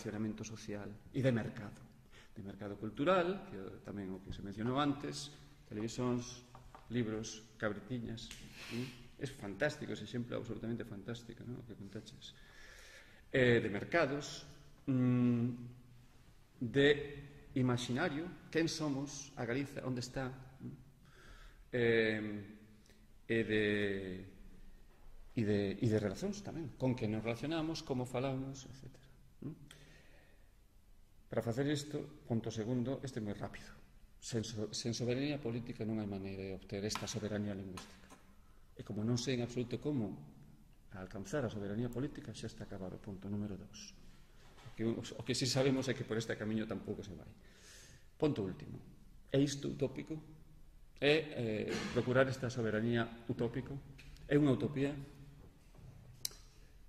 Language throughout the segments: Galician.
relacionamento social e de mercado cultural, que tamén o que se mencionou antes, televisións, libros, cabritiñas. É fantástico ese exemplo, absolutamente fantástico, non? O que contaches. De mercados, de imaginario, quen somos, a Galiza, onde está, e de relacións tamén, con que nos relacionamos, como falamos, etc. Para facer isto, punto segundo, este é moi rápido. Sen soberanía política non hai maneira de obter esta soberanía lingüística. E como non sei en absoluto como alcanzar a soberanía política, xa está acabado o punto número 2. O que si sabemos é que por este camiño tampouco se vai. Punto último. É isto utópico? É procurar esta soberanía utópico? É unha utopía?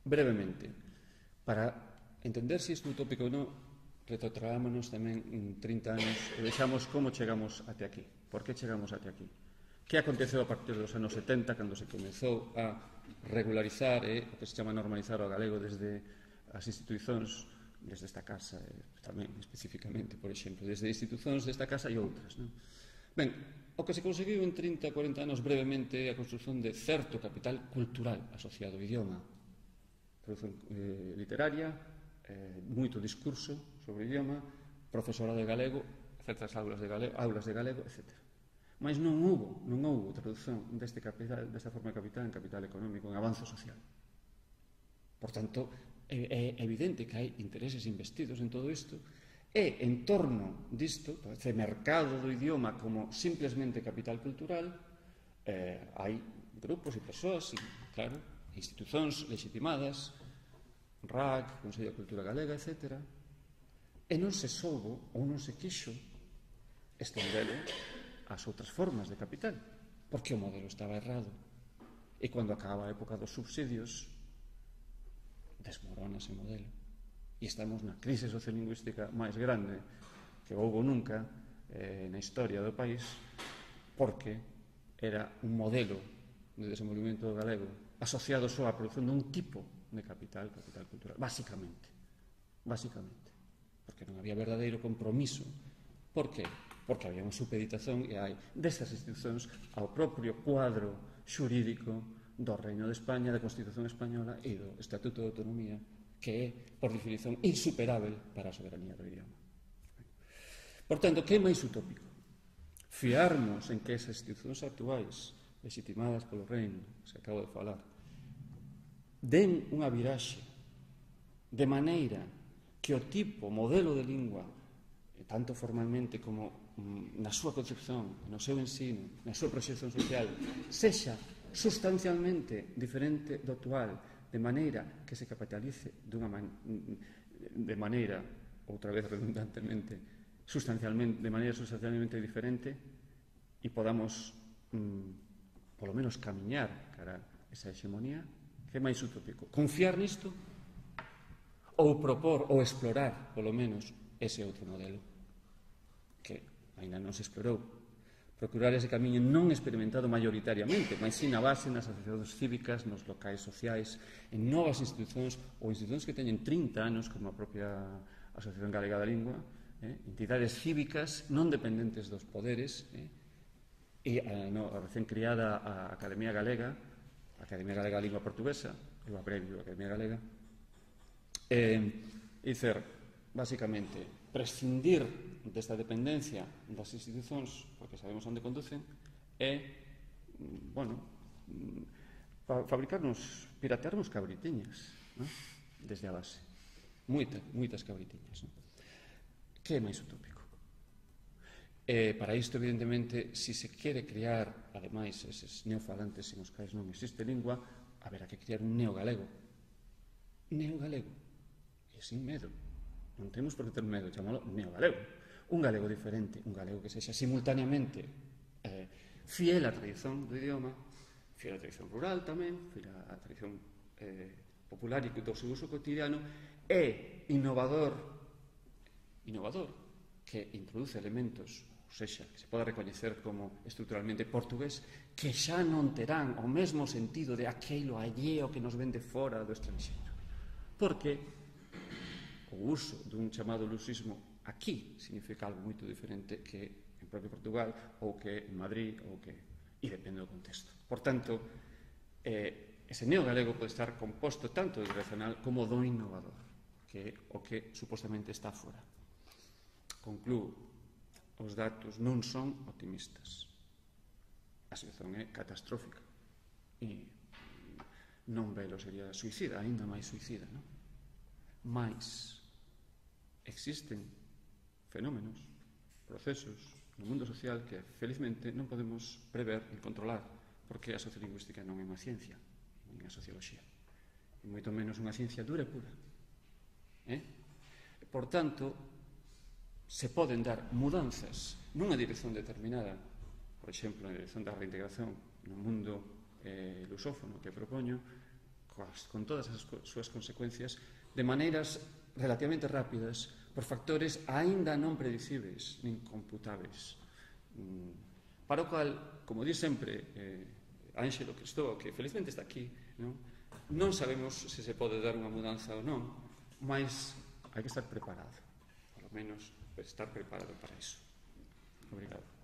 Brevemente, para entender se isto é utópico ou non, retrotraámonos tamén en 30 anos e vexamos como chegamos até aquí. Por que chegamos até aquí? Que aconteceu a partir dos anos 70, cando se comezou a regularizar o que se chama normalizar o galego desde as institucións, desde esta casa, tamén especificamente, por exemplo, desde institucións desta casa e outras, non? Ben, o que se conseguiu en 30, 40 anos brevemente é a construción de certo capital cultural asociado ao idioma, produción literaria, moito discurso sobre o idioma, profesorado de galego, certas aulas de galego, etc. Mas non houve traducción desta forma de capital en capital económico, en avanzo social. Por tanto, é evidente que hai intereses investidos en todo isto e en torno disto, este mercado do idioma como simplesmente capital cultural, hai grupos e persoas, claro, institucións legitimadas, RAC, Consello de Cultura Galega, etc. E non se soubo ou non se quixo estendelo ás outras formas de capital, porque o modelo estaba errado. E cando acaba a época dos subsidios, desmorona ese modelo. E estamos na crise sociolingüística máis grande que houve nunca na historia do país, porque era un modelo de desenvolvemento galego asociado só á produción dun tipo de capital cultural, básicamente, porque non había verdadeiro compromiso. Por que? Porque había unha supeditación e hai destas institucións ao propio cuadro xurídico do Reino de España, da Constitución Española e do Estatuto de Autonomía, que é, por definición, insuperável para a soberanía do idioma. Por tanto, que é máis utópico? Fiarnos en que esas institucións actuais, legitimadas polo Reino, que acabo de falar, den unha viraxe de maneira que o tipo, modelo de lingua, tanto formalmente como na súa concepción, no seu ensino, na súa proxección social, sexa sustancialmente diferente do actual, de maneira que se capitalice de maneira, outra vez redundantemente, de maneira sustancialmente diferente e podamos polo menos camiñar cara a esa hegemonía. Que é máis utópico? Confiar nisto ou propor ou explorar polo menos ese outro modelo que ainda non se explorou, procurar ese camiño non experimentado maioritariamente, mas si na base, nas asociacións cívicas, nos locais sociais, en novas institucións ou institucións que teñen 30 anos, como a propia Asociación Galega da Lingua, entidades cívicas non dependentes dos poderes, e a recén criada a Academia Galega da Lingua Portuguesa, eu abrevio Academia Galega, dicer, basicamente, prescindir desta dependencia das institucións, porque sabemos onde conducen, é, piratearnos cabritiñas, desde a base. Moitas cabritiñas. Que é máis utópico? Para isto, evidentemente, se se quere crear, ademais, eses neofalantes en os quais non existe lingua, haberá que crear un neogalego. Neogalego. E sin medo. Non temos por que ter medo, chamámoslo neogalego. Un galego diferente, un galego que sexa simultaneamente fiel á tradición do idioma, fiel á tradición rural tamén, fiel á tradición popular e do seu uso cotidiano, e innovador, que introduce elementos, ou sexa, que se poda recoñecer como estruturalmente portugués, que xa non terán o mesmo sentido de aquilo alleo que nos ven de fora do estranxeiro. Porque o o uso dun chamado luxismo aquí significa algo moito diferente que en propio Portugal ou que en Madrid ou que... e depende do contexto. Por tanto, ese neogalego pode estar composto tanto do irracional como do innovador, que é o que supostamente está fora. Conclúo, os datos non son optimistas. A situación é catastrófica e non velo sería suicida, ainda máis suicida, non? Mais existen fenómenos, procesos no mundo social que felizmente non podemos prever e controlar, porque a sociolingüística non é unha ciencia, nin a socioloxía, e moito menos unha ciencia dura e pura. Por tanto, se poden dar mudanzas nunha dirección determinada, por exemplo, na dirección da reintegración no mundo lusófono que propoño, con todas as súas consecuencias, de maneiras relativamente rápidas, por factores aínda non predicibles nin computáveis, para o cual, como di sempre Ánxelo Cristóbal, que felizmente está aquí, non sabemos se se pode dar unha mudanza ou non, mas hai que estar preparado, polo menos estar preparado para iso. Obrigado.